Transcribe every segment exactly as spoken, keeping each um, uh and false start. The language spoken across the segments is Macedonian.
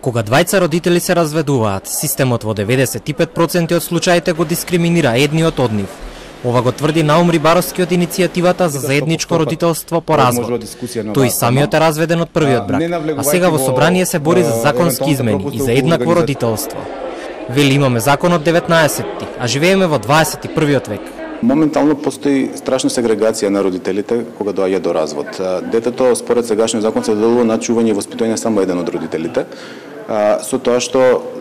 Кога двајца родители се разведуваат, системот во деветдесет и пет проценти од случаите го дискриминира едниот од нив. Ова го тврди Наум Рибаровски од иницијативата за заедничко родителство по развод. Тој самиот е разведен од првиот брак, а сега во собрание се бори за законски измени и за еднакво родителство. Вели имаме закон од деветнаесетти, а живееме во дваесет и првиот век. Моментално постои страшна сегрегација на родителите кога доаѓа до развод. Детето според сегашниот закон се доделува на чување и воспитување само еден од родителите, со тоа што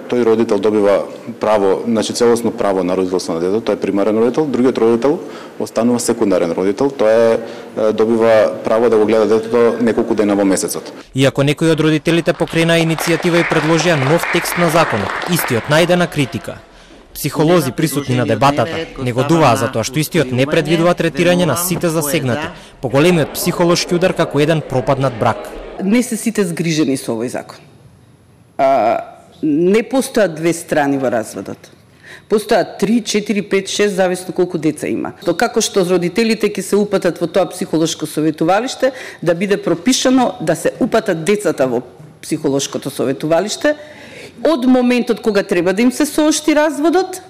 тој родител добива право, значи целосно право на родителство на детето, тој е примарен родител, другиот родител останува секундарен родител, тој е добива право да го гледа детето неколку дена во месецот. Иако некои од родителите покрена иницијатива и предложија нов текст на законот, истиот најде на критика. Психолози присутни на дебатата негодуваа за тоа што истиот не предвидува третирање на сите засегнати, поголемиот психолошки удар како еден пропаднат брак. Не се сите згрижени со овој закон. А, не постојат две страни во разводот. Постојат три, четири, пет, шест, зависно колку деца има. То како што родителите ќе се упатат во тоа психолошко советувалиште, да биде пропишано да се упатат децата во психолошкото советувалиште, од моментот кога треба да им се соопшти разводот,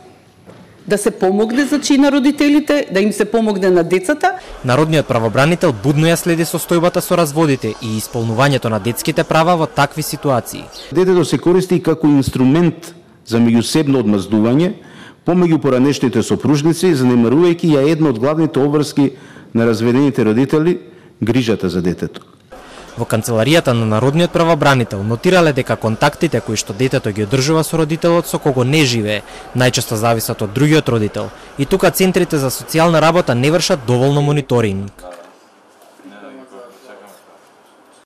да се помогне значи на родителите, да им се помогне на децата. Народниот правобранител будно ја следи состојбата со разводите и исполнувањето на детските права во такви ситуации. Детето се користи како инструмент за меѓусебно одмаздување помеѓу поранешните сопружници, занемарувајќи ја една од главните обврски на разведените родители, грижата за детето. Во канцеларијата на Народниот правобранител нотирале дека контактите кои што детето ги одржува со родителот со кого не живее, најчесто зависат од другиот родител, и тука центрите за социјална работа не вршат доволно мониторинг.